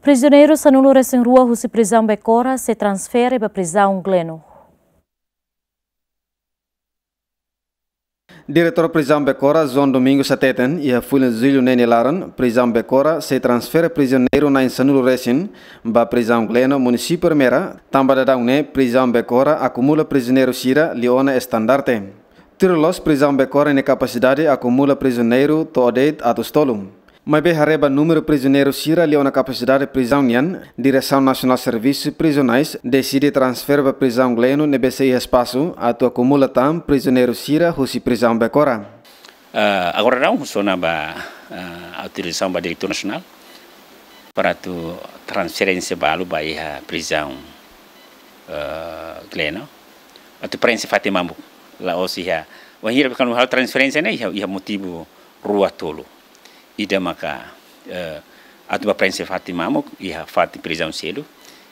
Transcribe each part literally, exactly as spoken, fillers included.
Prizioneiru sanulu-resin-rua husi prizaun Becora sei transfere ba prizaun Gleno. Diretór Prizaun Becora, João Domingos hateten, iha fulan Jullu ne'e nia laran, Prizaun Becora sei transfere prizioneiru na'in sanulu-resin ba Prizaun Gleno, Munisípiu Ermera, tanba daudaun ne'e Prizaun Becora akumula prizioneiru sira liu ona estandarte. Tuir loloos, Prizaun Becora nia kapasidade akumula prizioneiru to'o de'it atus tolu. Maibé haree ba númeru prizioneiru sira liu ona kapasidade prizaun nian, Diresaun Nasionál Servisu Prizionais deside transfere ba Prizaun Gleno ne'ebé sei iha espasu atu akumula tan prizioneiru sira husi Prizaun Becora. Ah, agora daudaun husu ona ba, ah, autorizasaun ba Diretór Nasionál para atu transferénsia balu ba iha Prizaun, ah, Gleno. Atu preenxe fatin mamuk. La'ós iha, wainhira kuandu halo transferénsia ne'e iha, iha motivu rua tolu. Ida maka, eh, atu ba preenxe fatin mamuk iha fatin prizaun seluk.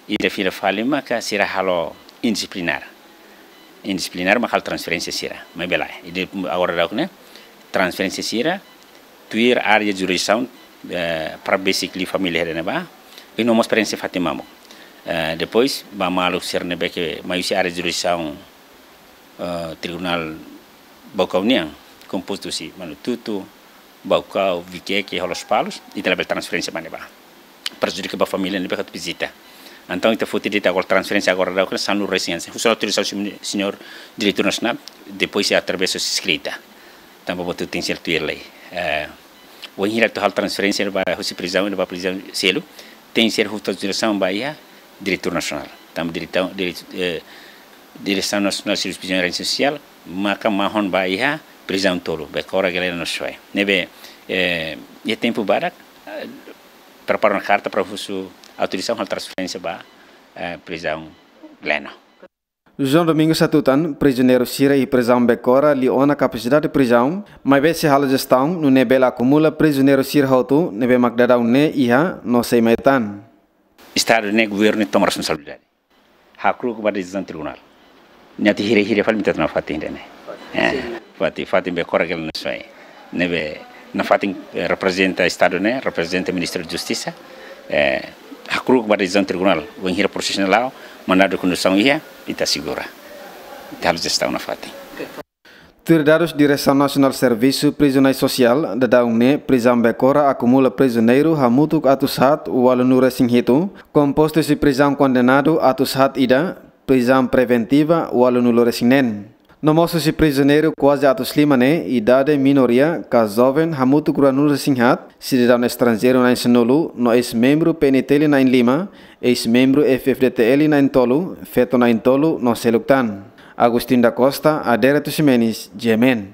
Ida fila fali maka sira halo indisiplinár. Indisiplinár maka halo transferénsia sira. Maibé lae, ida agora daudaun ne'e transferénsia sira tuir área jurisdisaun, eh, para besik liu família hela ne'ebá, i no mós preenxe fatin mamuk. Eh, depois ba maluk sira ne'ebé ke mai husi área jurisdisaun, eh, Tribunál Baucau nian, kompostu husi Manututu, Baucau, Viqueque, Lospalos, ita labele transferénsia ba ne'ebá. Prejudika ba família ne'ebé ke atu vizita. Entaun ita foti de'it agora transferénsia agora daudaun ne'e sanulu-resin-rua. Husu ona autorizasaun, señór Diretór Nasionál, depois sei através de eskrita. Tanba buat hotu tenke ser tuir lei. Eh, wainhira atu halo transferénsia ba husi prizaun ba prizaun seluk, tenke ser husu autorizasaun ba iha Diretór Nasionál. Tanba diresaun, dire-, eh, Diresaun Nasionál Servisu Prizioneiru Sosiál maka mahon ba iha prizaun tolu, Becora, Gleno no Soae. Ne'ebé, eh, iha tempu badak, eh, prepara ona karta para husu autorizasaun halo transferénsia ba, eh, prizaun Gleno. João Domingos hatutan, prizioneiru sira iha Prizaun Becora liu ona kapasidade prizaun, maibé sei halo jestaun nune'e bele akumula prizioneiru sira hotu ne'ebé mak daudaun ne'e iha no sei mai tan. Estadu ne'e, governu toma responsabilidade. Hakru'uk ba desizaun tribunál. Nia atu hirahira fali ita tau nafatin ida-ne'e. Eh, fatin, fatin Becora, Gleno no Soae. Ne'ebé nafatin, eh, reprezenta Estadu ne'e, reprezenta Ministériu Justisa. Eh, hakru'uk ba desizaun tribunál. Wainhira prosesu ne'e la'o, mandadu kondusaun iha, ita asegura. Ita halo jestaun nafatin. Tuir dadus Diresaun Nasionál Servisu Prizionais Sosiál, daudaun ne'e Prizaun Becora akumula prizioneiru hamutuk atus haat ualunulu-resin-hitu, kompostu husi prizaun kondenadu atus haat ida, prizaun preventiva ualunulu-resin-neen. No mós husi prizioneiru kuaze atus lima ne'e, idade minoria ka joven hamutuk ruanulu-resin-haat, sidadaun estranjeiru na'in sanulu, no eis-membru P N T L na'in lima, eis-membru F F D T L na'in tolu, feto na'in tolu, no seluk tan. Agostinho da Costa, Adérito Ximenes, G M N.